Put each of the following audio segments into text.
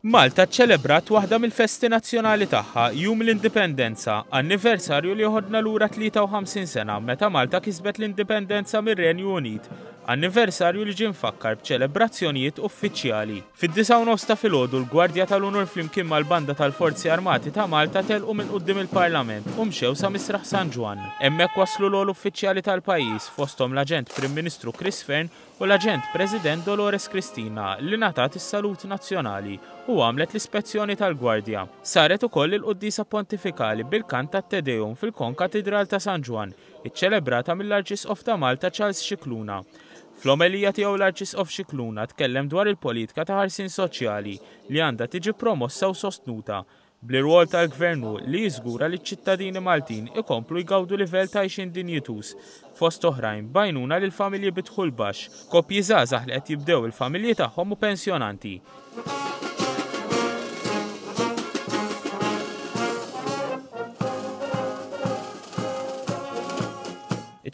Malta ċċelebrat waħda mill-festi nazzjonali tagħha, Jum l-Indipendenza, anniversarju li joħodna lura 53 sena meta Malta kisbet l-indipendenza mir-Renju Unit, anniversarju li ġie mfakkar b'ċelebrazzjonijiet uffiċjali. Fid-disgħa u nofs ta' filgħodu l-Gwardja tal-Unur flimkien mal-Banda tal-Forzi Armati ta' Malta telqu minn quddiem il-Parlament u mxew sa Misraħ San Ġwann. Hemmhekk waslu l-ogħla uffiċjali tal-pajjiż, fosthom l-Aġent Prim Ministru Chris Fearne u l-Aġent President Dolores Cristina li ngħatat is-salut nazzjonali u għamlet l-ispezzjoni tal-Gwardja. Saret ukoll il-quddiesa pontifikali bil-kant tat-Te Deum fil-Konkatidral ta' San Ġwann, iċċelebrata mill-Arċisqof ta' Malta Charles Scicluna. Fl-omelija tiegħu l-Arċisqof Scicluna tkellem dwar il-politika ta' ħarsien soċjali li għandha tiġi promossa u sostnuta Bl-irwol tal-Gvern hu li jiżgura li ċ-ċittadini Maltin ikomplu jgawdu livell ta' għixien dinjituż, fost oħrajn b'għajnuna lil familji bi dħul baxx, koppji żgħażagħ li qed jibdew il-familji tagħhom u pensjonanti.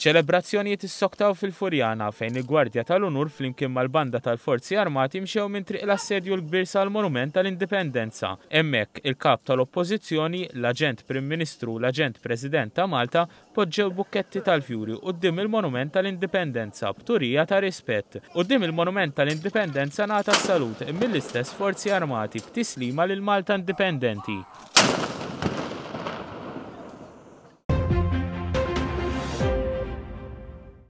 Iċ-ċelebrazzjonijiet issoktaw fil-Furjana fejn il-Gwardja tal-Unur flimkien mal-Banda tal-Forzi Armati mxew minn Triq l-Assedju l-Kbir sal-Monument tal-Indipendenza. Hemmhekk, il-Kap tal-Oppożizzjoni, l-Aġent Prim Ministru u l-Aġent President ta' Malta poġġew bukketti tal-fjuri quddiem il-Monument tal-Indipendenza b'turija ta' rispett. Quddiem il-Monument tal-Indipendenza ngħata s-salut mill-istess Forzi Armati b'tislima lil Malta Indipendenti.